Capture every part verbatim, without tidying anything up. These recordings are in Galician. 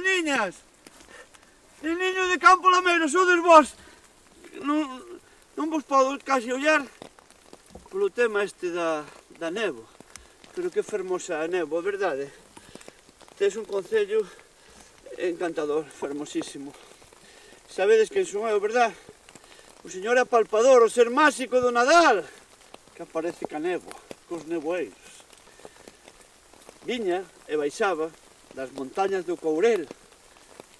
niñas! Neniño de Campo Lameiro, sodes vos! Non, non vos podo casi ollar polo tema este da, da néboa. Pero que fermosa a néboa, verdade? Tes un concello encantador, fermosísimo. Sabedes quen son eu, verdad? O señor apalpador, o ser máxico do Nadal, que aparece ca néboa, cos neboeiros. Viña e baixaba das montañas do Courel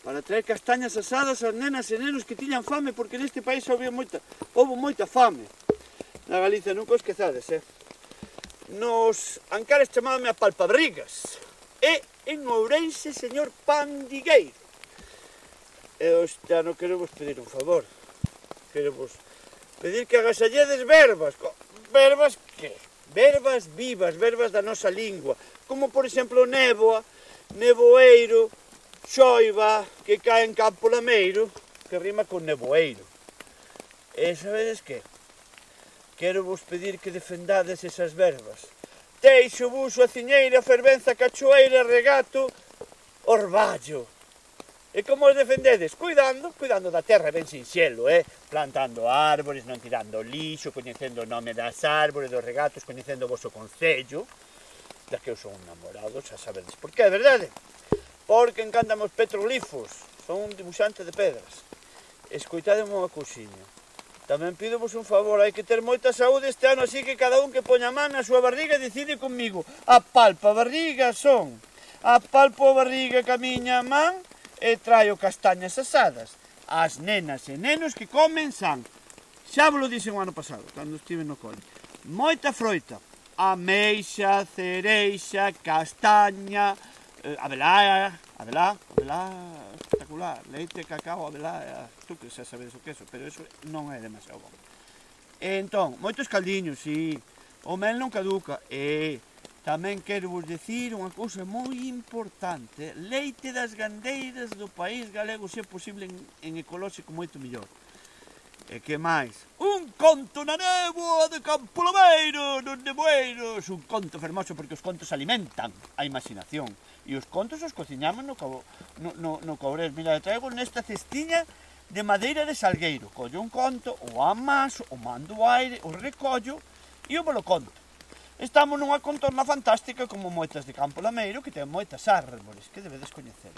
para traer castañas asadas ás nenas e nenos que tiñan fame, porque neste país houve moita, houve moita fame. Na Galicia nunca o esquezades, eh? Nos Ancares chamábame a palpabrigas. E en Ourense, señor Pandigueiro. E hoxe non quero vos pedir un favor. Quero vos pedir que agasalledes verbas. Verbas que? Verbas vivas, verbas da nosa lingua. Como, por exemplo, néboa, neboeiro, xoiva, que cae en Campo Lameiro, que rima con neboeiro. E sabedes que? Quero vos pedir que defendades esas verbas. Teixo, buxo, aciñeira, fervenza, cachoeira, regato, orballo. E como os defendedes? Cuidando, cuidando da terra ben sinxelo, eh? Plantando árbores, non tirando lixo, coñecendo o nome das árbores, dos regatos, coñecendo o vosso concello, da que eu son un namorado, xa sabedes por que, verdade? Porque encantame os petrolifos, son un dibuixante de pedras. Escoitademe unha cousiña. Tamén pido vos un favor, hai que ter moita saúde este ano, así que cada un que poña man na súa barriga decide comigo. A palpa barriga son, a palpo a barriga ca miña man e traio castañas asadas. As nenas e nenos que comen san. Xa vos lo dixen o ano pasado, cando estive no cole. Moita froita, ameixa, cereixa, castaña, eh, abelá, abelá, abelá, espectacular, leite, cacao, abelá, tú que xa sabedes o que é eso, pero eso non é demasiado bom. E entón, moitos caldiños, si, o mel non caduca, e tamén quero vos decir unha cousa moi importante, leite das gandeiras do país galego, se é posible en, en ecolóxico moito mellor. E que máis? Un conto na néboa de Campo Lameiro, nos neboeiros, un conto fermoso porque os contos alimentan a imaginación. E os contos os cociñamos no, no, no, no Courel. Mira, traigo nesta cestiña de madeira de salgueiro. Collo un conto, o amaso, o mando o aire, o recollo e o volo conto. Estamos nunha contorna fantástica como moitas de Campo Lameiro que ten moitas árbores que debedes coñecer.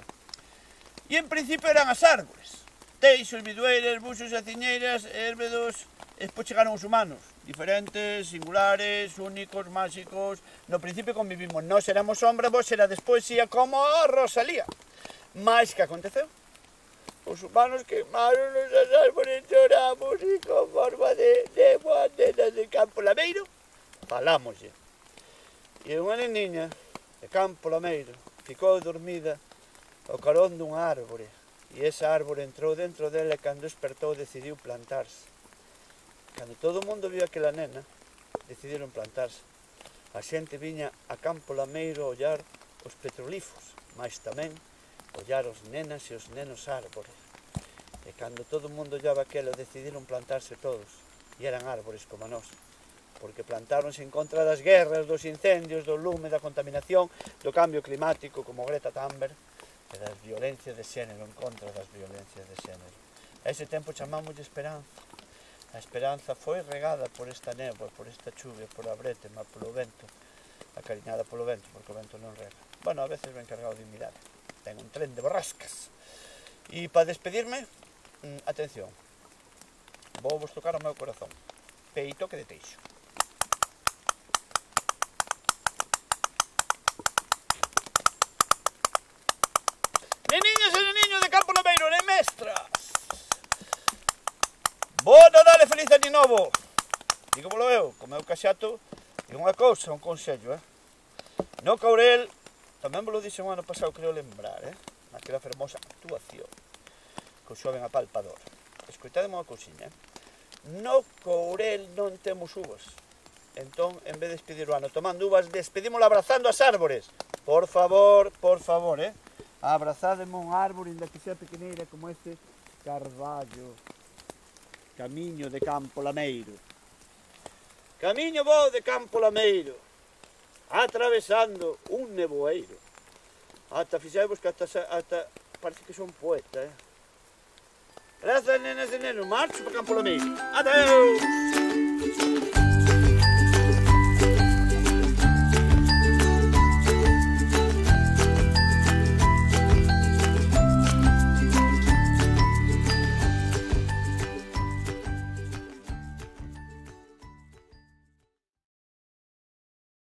E en principio eran as árbores. Teixos, bidueiras, buxos, aciñeiras, érbedos, e despois chegaron os humanos, diferentes, singulares, únicos, máxicos. No principio convivimos, nós éramos sombra, vos erades poesía como a Rosalía. Mais que aconteceu? Os humanos queimaron os árboles, choramos e con forma de néboa, nenas de Campo Lameiro, falámoslle. E unha neniña de Campo Lameiro ficou dormida ao carón dunha árbore. E esa árbore entrou dentro dela e cando despertou decidiu plantarse. Cando todo o mundo viu aquela nena, decidiron plantarse. A xente viña a Campo Lameiro a ollar os petrolifos, mas tamén ollar os nenas e os nenos árbores. E cando todo o mundo ollaba aquelo, decidiron plantarse todos. E eran árbores como nós. Porque plantáronse en contra das guerras, dos incendios, do lume, da contaminación, do cambio climático, como Greta Thunberg, e das violencias de xénero, en contra das violencias de xénero. A ese tempo chamámoslle esperanza. A esperanza foi regada por esta néboa, por esta chuvia, por a brétema, polo vento, acariñada polo vento, porque o vento non rega. Bueno, a veces ven cargado de humidade. Ten un tren de borrascas. E para despedirme, mmm, atención, vou vos tocar o meu corazón. Peito que de Teixo. Neniños e neniños de Campo Lameiro, ne mestras! Bo Nadal e feliz año novo! Digo polo eu, co meu caxato, e unha cousa, un consello, eh? No Courel, tamén vos lo dixen o ano pasado, creo lembrar, eh? Naquela fermosa actuación, co xoven apalpador. Escoitademe unha cousiña, eh? No Courel non temos uvas. Entón, en vez de despedir o ano tomando uvas, despedímolo abrazando as árbores. Por favor, por favor, eh? Abrazádeme un árbore, inda que sea pequeneira como este carballo. Camiño de Campo Lameiro. Camiño vou de Campo Lameiro, atravesando un neboeiro. Ata fixaivos que ata, ata parece que son poeta, eh? Grazas, nenas e nenos, marcho para Campo Lameiro. Adeus!